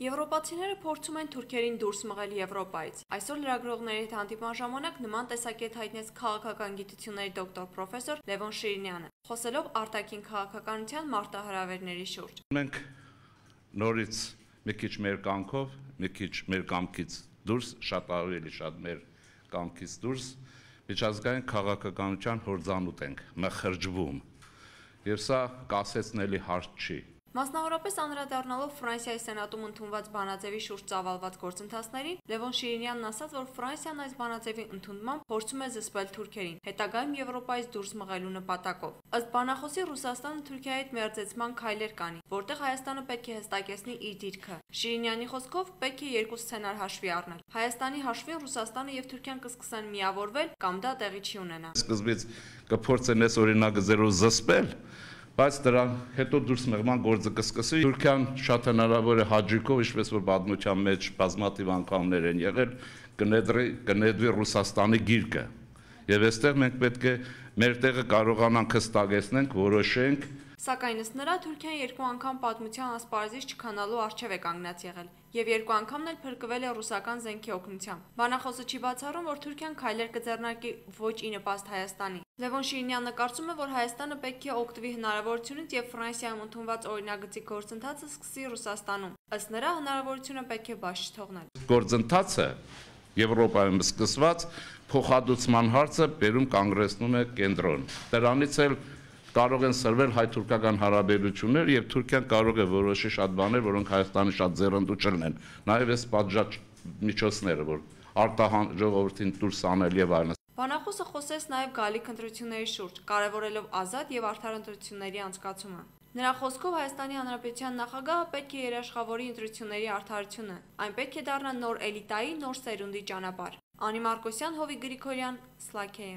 Եվրոպացիները փորձում են թուրքերին դուրս մղել Եվրոպայից։ Այսօր լրագրողների հետ հանդիպման ժամանակ նման տեսակետ հայտնեց քաղաքական գիտությունների դոկտոր պրոֆեսոր Լևոն Շիրինյանը, խոսելով արտաքին քաղաքականության մարտահրավերների շուրջ։ Մենք նորից մի քիչ մեր կամքով, մի քիչ մեր կամքից դուրս, շատ ավելի շատ մեր կամքից դուրս միջազգային քաղաքականության հորձանուտ ենք մխրջվում։ Եվ սա կասեցնելի հարց չի։ Մասնավորապես անդրադառնալով Ֆրանսիայի սենատում ընդունված բանաձևի շուրջ ծավալված գործընթացներին, Լևոն Շիրինյանն ասաց, որ Ֆրանսիան այս բանաձևի ընդունմամբ փորձում է զսպել թուրքերին, հետագայում Եվրոպայից դուրս մղելու նպատակով։ Ըստ բանախոսի, Ռուսաստանը Թուրքիայի հետ մերձեցման քայլեր կանի, որտեղ Հայաստանը պետք է հստակեցնի իր դիրքը։ Շիրինյանի խոսքով պետք է երկու սցենար հաշվի առնել։ Հայաստանի հաշվին Ռուսաստանը եւ Թուրքիան կսկսեն միավորվել կամ դա տեղի չի ունենա։ Սկզբից կփորձեն այս օրինակը զերով զսպել, բայց դրան հետո դուրս մղման գործը կսկսի։ Թուրքիան շատ հնարավոր է հաջիկով, ինչպես որ պատմության մեջ բազմաթիվ անգամներ են եղել, կնետվի Ռուսաստանի գիրկը։ Եվ այստեղ մենք պետք է մեր տեղը կարողանանք հստակեցնենք, որոշենք։ Սակայն ըստ նրա Թուրքիան երկու անգամ պատմության ասպարեզից չքանալու առջև է կանգնած եղել, եւ երկու անգամն էլ փրկվել է ռուսական զենքի օգնությամբ։ Բանախոսը չի բացառում, որ Թուրքիան քայլեր կձեռնարկի ոչ ի նպաստ Հայաստանի։ Լևոն Շիրինյանը կարծում է, որ Հայաստանը պետք է օգտվի հնարավորությունից եւ Ֆրանսիայում ընդունված օրինագծի գործընթացը սկսի Ռուսաստանում։ Ըստ նրա հնարավորությունը պետք է բաց չթողնել։ Գործընթացը Եվրոպայում սկսված փոխհատուցման հարցը բերում կանգնեցնում է կենտրոն։ Դրանից էլ կարող են սրվել հայ-թուրքական հարաբերություններ եւ Թուրքիան կարող է որոշի շատ բաներ, որոնք Հայաստանի շատ ձեռնտու չլինեն։ Նաեւ այս պատժած միջոցները, որ արտահան ժողովրդին դուրս անել եւ այլն։ Բանախոսը խոսեց նաեւ գալիք ընտրությունների շուրջ, կարևորելով ազատ եւ արդար ընտրությունների անցկացումը։ Նրա խոսքով Հայաստանի Հանրապետության նախագահը պետք է երաշխավորի ընտրությունների արդարությունը։ Այն պետք է դառնա նոր էլիտայի, նոր սերունդի ճանապարհ։ Անի Մարկոսյան, Հովիկ Գրիգորյան, Սլաքեյ։